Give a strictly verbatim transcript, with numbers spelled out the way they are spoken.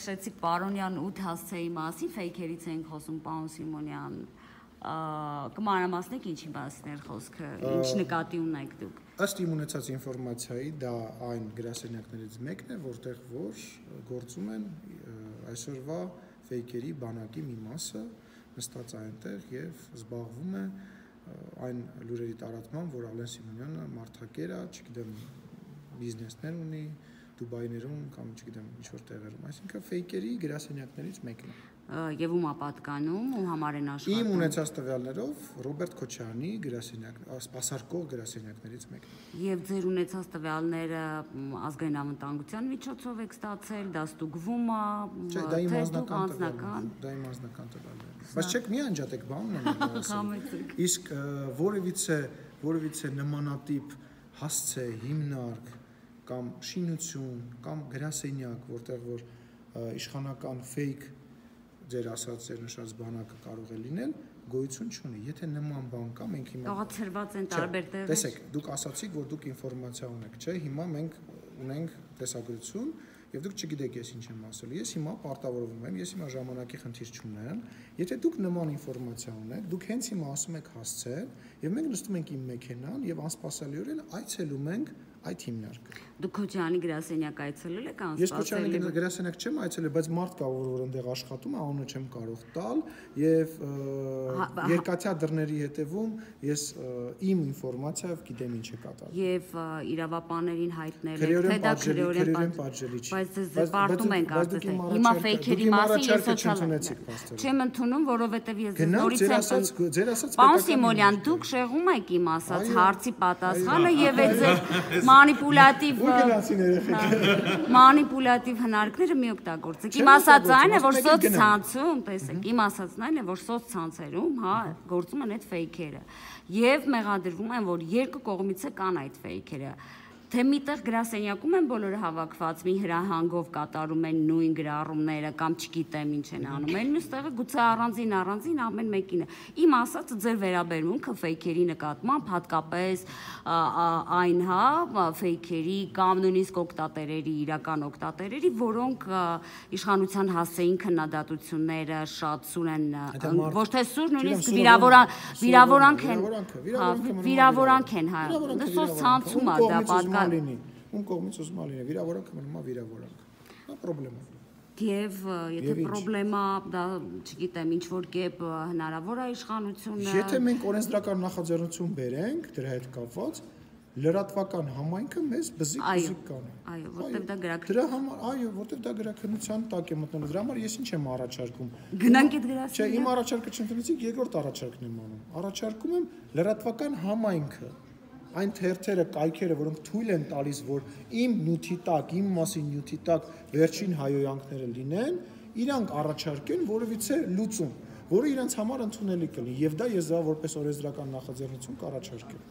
Շեցիկ Պարոնյան ութ հասցեի մասին, ֆեյքերից ենք խոսում, պարոն Սիմոնյան, կմանրամասնեք ինչի մասին էր խոսքը, ինչ նկատի ունեք դուք։ Ըստ իմ ունեցած ինֆորմացիայի, դա այն գրասենյակներից մեկն է, որտեղ որ գործում են այսօրվա ֆեյքերի բանակի մի մասը, նստած այնտեղ եւ զբաղվում է այն լուրերի տարածմամբ, որ Ալեն Սիմոնյանը մարդակեր է, չգիտեմ, բիզնեսներ ունի Դուբայներում կամ չգիտեմ ինչ-որ տեղերում, այսինքն ֆեյքերի գրասենյակներից մեկն է։ Եվ ում ապատկանում, ում համար են աշխատում։ Իմ ունեցած տվյալներով Ռոբերտ Քոչարյանի գրասենյակ, սպասարկող գրասենյակներից մեկն է։ Եվ ձեր ունեցած տվյալները ազգային անվտանգության միջոցով եք ստացել, դա ստուգվում է, թե դուք անձնական։ Դա իմ անձնական տվյալներն են։ Բայց չեք մի անջատեք բանն եմ ասում։ Իսկ որևիցե որևիցե նմանատիպ հասցե, հիմնարկ կամ շինություն կամ գրասենյակ, որտեղ որ իշխանական ֆեյք ձեր ասած ձեր նշած բանակը կարող է լինել, գոյություն չունի։ Եթե նման բան կա, մենք հիմա տեղացրված են տարբեր տեղեր։ Տեսեք, դուք ասացիք, որ դուք ինֆորմացիա ունեք, չէ՞, հիմա մենք ունենք տեսագրություն, եւ դուք չգիտեք ես ինչ եմ ասել։ Ես հիմա պարտավորվում եմ, ես հիմա ժամանակի խնդիր չունեմ։ Եթե դուք նման ինֆորմացիա ունեք, դուք հենց հիմա ասում եք հասցել, եւ մենք նստում ենք իմ մեքենան եւ անսպասելիորեն այցելում ենք այդ հիմնարկը։ Դուք Քոչարյանի գրասենյակ այցելել եք անսպասելի։ Ես Քոչարյանի գրասենյակ չեմ այցելել, բայց մարդ կա, որ այնտեղ աշխատում է, անունը չեմ կարող տալ եւ երկաթյա դռների հետևում ես իմ ինֆորմացիայով գիտեմ ինչ է կատարվում։ Եւ իրավապաներին հայտնել եք, թե դա քրեորեն պատժելի չի։ Բայց ձեզ պարտում են կարծես։ Հիմա ֆեյքերի մասին ես սոցիալ չեմ ընդունում, որովհետեւ ես նորից եմ ձեր ասած Պարոն Սիմոնյան, դուք շեղում եք իմ ասած հարցի պատասխանը եւ այդ ձեր մանիպուլատիվ մանիպուլատիվ հնարքները մի օգտագործեք։ Իմ ասածն այն է, որ սոցցանցում, տեսեք, իմ ասածն այն է, որ սոցցանցերում, հա, գործում են այդ ֆեյքերը եւ մեղադրվում են, որ երկու կողմից է կան այդ ֆեյքերը։ Թե միտեղ գրասենյակում են բոլորը հավաքված, մի հրահանգով կատարում են նույն գրառումները կամ չգիտեմ ինչ են անում, այն մյուստեղը գուցե առանձին առանձին ամեն մեկին է։ Իմ ասածը ձեր վերաբերմունքը ֆեյքերի նկատմամբ, հատկապես այն, հա, ֆեյքերի կամ նույնիսկ օգտատերերի, իրական օգտատերերի, որոնք իշխանության հասցեին քննադատությունները շատ սուր են, ոչ թե սուր, նույնիսկ վիրավորանք են, վիրավորանք են, հա, սոցցանցում է դա պատկա Ում կողմից ուզում է լինի, վիրավորանքը մնում է վիրավորանք։ Դա պրոբլեմա։ Եվ եթե պրոբլեմա, դա, չգիտեմ, ինչ-որ կերպ հնարավոր է իշխանությունը։ Եթե մենք օրենսդրական նախաձեռնություն բերենք դրա հետ կապված, լրատվական համայնքը մեզ բզիկ-բզիկ կանի։ Այո, որտեղ դա գրաքննության։ Դրա համար, այո, որտեղ դա գրաքննության տակ է մտնելու։ Դրա համար ես ինչ եմ առաջարկում։ Գնանք այդ գրասենյակ։ Չէ, իմ առաջարկը չընդունեցիք, երկրորդ առաջարկն եմ անում։ Առաջարկում եմ լրատվական համայնքը այն թերթերը, կայքերը, որոնք թույլ են տալիս, որ իմ նյութի տակ, իմ մասին նյութի տակ վերջին հայոյանքները լինեն, իրանք առաջարկեն որևիցե լուծում, որը իրենց համար ընդունելի կլինի, եւ դա ես դա որպես օրենսդրական նախաձեռնություն կառաջարկեմ։